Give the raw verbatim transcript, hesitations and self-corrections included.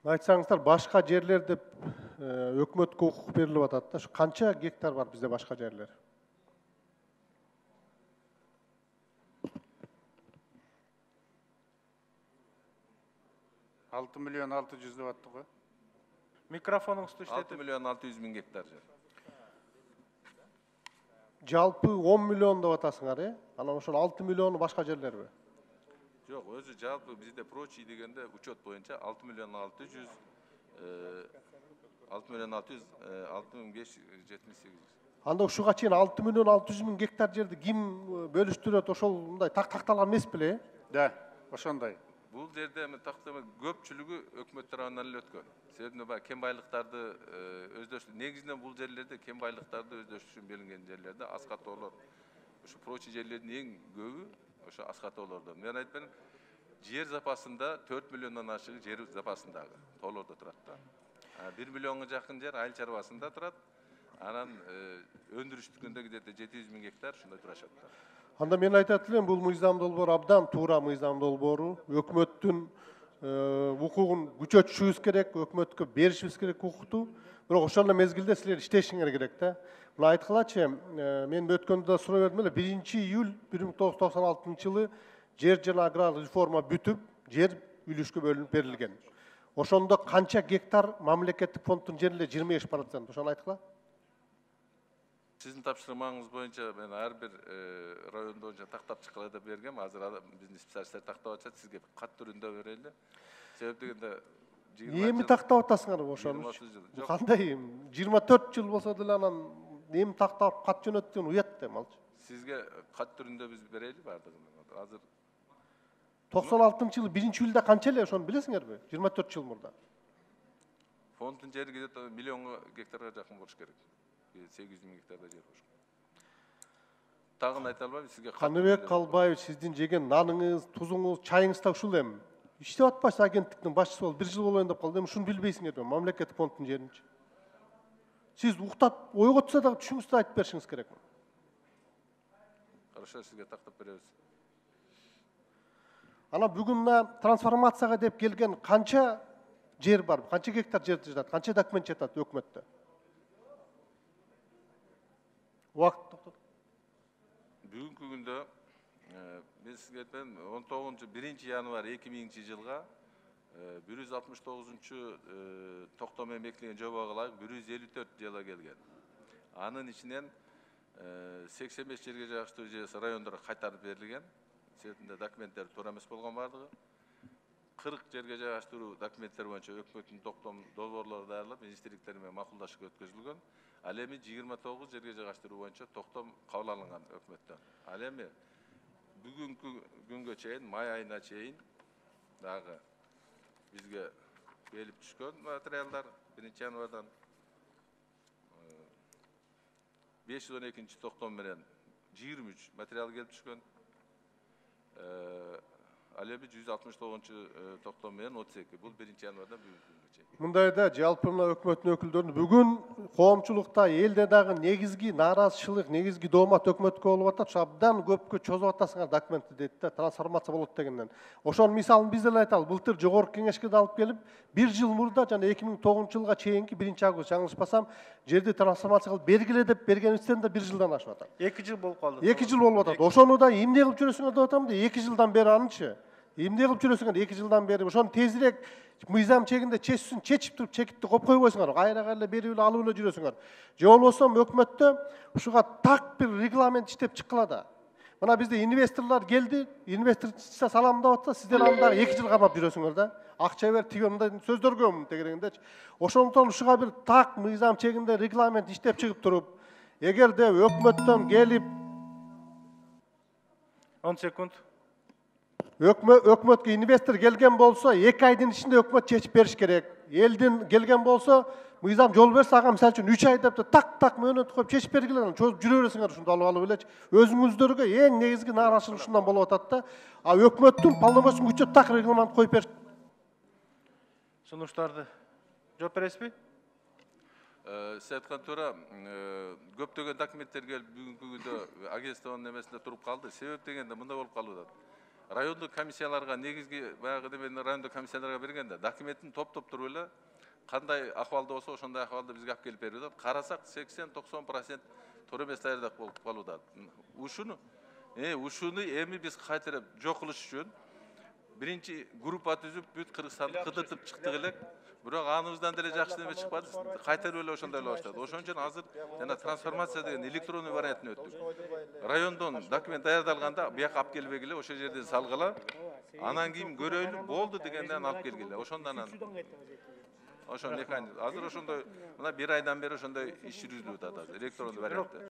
Айтсаңыздар, башка жерлер деп өкмөткө укук берилип атат да. Канча гектар бар бизде башка жерлер? алты миллион алты жүз деп аттык го. Микрофонуңузду иштетип. алты миллион алты жүз миң гектар жер. Жалпы он миллион деп атасыңар, э? Анан ошол алты миллиону башка жерлерби? Жок, өзү жалпы бизде прочий дегенде учет боюнча алты миллион алты жүз алты миллион алты жүз алты миң беш жүз жетимиш сегиз. Анда ушуга чейин алты миллион алты жүз миң гектар жерди ким бөлүштүрөт? Ошол мындай так такталган эмес беле? Да, ошондой. Бул жерде эми тактама көпчүлүгү өкмөт тарабынан эле өткөн. Себеби баягы кен байлыктарды өздөштүрүү, негизинен бул жерлерде кен байлыктарды өздөштүрүшүн белгилеген жерлерде аз катоолор. Ушу прочий жерлердин эң көбү ошо аз катоолордо. Мен айтпайм, жер запасында төрт миллиондон ашыгы жер запасындагы тоолордо турат да. бир миллионго жакын жер айыл чарбасында турат. Анан өндүрүштүкүндө где-то жети жүз миң гектар ушундай турашат да. Анда мен айтат элем, бул мыйзам долбоору абдан туура мыйзам долбоору. Өкмөттүн укугун күчөтүшүбүз керек, өкмөткө беришибиз керек укукту. Бирок ошол эле мезгилде силер иштешиңер керек да. Мына айткылачы, мен өткөндө да суроо бердим эле, биринчи июль бир миң тогуз жүз токсон алтынчы жылы жер жана аграр реформа бүтүп, жер үлүшкө бөлүнүп берилген. Ошондо канча гектар мамлекеттик фонддун жери эле жыйырма беш процент. Ошону айткыла. Сиздин тапшырмаңыз боюнча мен ар бир район боюнча тактап чыккыла деп бергем. Азыр биздин специалисттер тактап атышат, сизге кат түрүндө берели. Себеп дегенде эми тактап атасыңар ошону. Кандай жыйырма төрт жыл болсо деле анан эми тактап кат жөнөттүгүн уят да малчы. Сизге кат түрүндө биз берели бардыгын. Азыр токсон алтынчы жылы биринчи июлда канча эле ошону билесиңерби? жыйырма төрт жыл мурда. Фонддун жери где-то миллионго гектарга жакын болуш керек. сегиз жүз миң гектарда жер болуш керек. Тагын айта албайм сизге. Каныбек Калбаевич, сиздин жеген наныңыз, тузуңуз, чайыңыз да ушул эми. Иштеп атпайсыз агенттиктин башчысы болуп, бир жыл болоюн деп калды. Эми ушуну билбейсиңерби? Мамлекеттик фонддун жеринчи. Сиз уктап, ойго түшсө дагы түшүңүздү айтып беришиңиз керек. Хорошо, сизге тактап беребиз. Ана бүгүн мына трансформацияга деп келген канча жер бар? Канча гектар жер жатат? Канча документ жатат өкмөттө? Убакыт токтот. Бүгүнкү күндө мен сизге айтайын, он тогузунчу биринчи январь эки миңинчи жылга бир жүз алтымыш тогузунчу токтом менен бекитилген жобого ылайык бир жүз элүү төрт жала келген. Анын ичинен сексен беш жерге жайгаштыруу жүйөсү райондорго кайтарып берилген. Себебинде документтер туура эмес болгон бардыгы. кырк жерге жайгаштыруу документтер боюнча өкмөттүн токтом долбоорлору даярдалып, министрликтер менен макулдашууга өткөзүлгөн. Ал эми жыйырма тогуз жерге жайгаштыруу боюнча токтом кабыл алынган өкмөттөн. Ал эми бүгүнкү күнгө чейин, май айына чейин дагы бизге келип түшкөн материалдар биринчи январдан беш жүз он экинчи токтом менен жыйырма үч материал келип түшкөн. Ал эми жүз алтымыш тогузунчу токтом менен отуз эки. Бул биринчи январдан бүгүнкү күнгө чейин. Мындайда жалпы мына өкмөттүн өкүлдөрүнүн бүгүн коомчулукта, элде дагы негизги нааразычылык, негизги доомат өкмөткө болуп атат. Ушу абдан көпкө чозуп атасыңар документти дейт да, трансформация болот дегенден. Ошонун мисалын биз деле айталы. Былтыр жогорку кеңешке да алып келип, бир жыл мурда жана эки миң тогузунчу жылга чейинки биринчи август жаңылышпасам, жерди трансформация кылып бергиле деп бергенибизден да бир жылдан ашып атат. эки жыл болуп калды. эки жыл болуп атат. Ошону да эмне кылып жүрөсүңөр деп атам да, эки жылдан бери анычы. Эмне кылып жүрөсүңөр эки жылдан бери? Ошону тезирээк мыйзам чегинде чечсин, чечип туруп чекитти коюп койбойсуңар. Кайра-кайра берип эле алып эле жүрөсүңөр. Же болбосо өкмөттө ушуга так бир регламент иштеп чыккыла да. Мына бизде инвесторлор келди, инвестор саламдап атса, сиздер анда эки жыл кармап жүрөсүңөр да. Акча бер, тиге мындай сөздөргө тегерегендечи. Ошондон ушуга бир так мыйзам чегинде регламент иштеп чыгып туруп, эгерде өкмөттөн келип он секунд. Өкмөткө инвестор келген болсо, эки айдын ичинде өкмөт чечип бериш керек. Элдин келген болсо, мыйзам жол берсе, ага мисалы үчүн үч ай деп так-так мөөнөт коюп чечип бергиле, чозуп жүрө бересиңер ушунду алып алып элечи. Өзүңүздөргө эң негизги нааразычылык ушундан болуп атат да. А өкмөттүн полномочиясын күчөп так регламент коюп бериш. Сунуштарды жооп бересизби? Сиз айткан туура, көптөгөн документтер келип бүгүнкү күндө агентствонун эмесинде туруп калды. Себеп дегенде мындай болуп калып атат. райондук комиссияларга негизги баягы демени райондук комиссияларга бергенде документин топтоп туруп эле кандай акыбалда болсо ошондой акыбалда бизге алып келип берип атат. Карасак сексен токсон процент туура эмес даярдык болуп калууда. Ушуну э ушуну эми биз кайтарып жок кылыш үчүн биринчи группа түзүп бүт Кыргызстанды кыдыртып чыктык элек. Бирок аныбыздан деле жакшы неме чыкпады. Кайтарып эле ошондой эле баштады. Ошон үчүн азыр жана трансформация деген электрондуу вариантын өттүк. Райондон документ даярдалганда бияка алып келбегиле, ошол жерден салгыла. Анан кийин көрөйлү, болду дегенден алып келгиле. Ошондон анан ошон механизм. Азыр ошондой мына бир айдан бери ошондой иш жүргүзүлүп атат азыр электрондуу вариантта.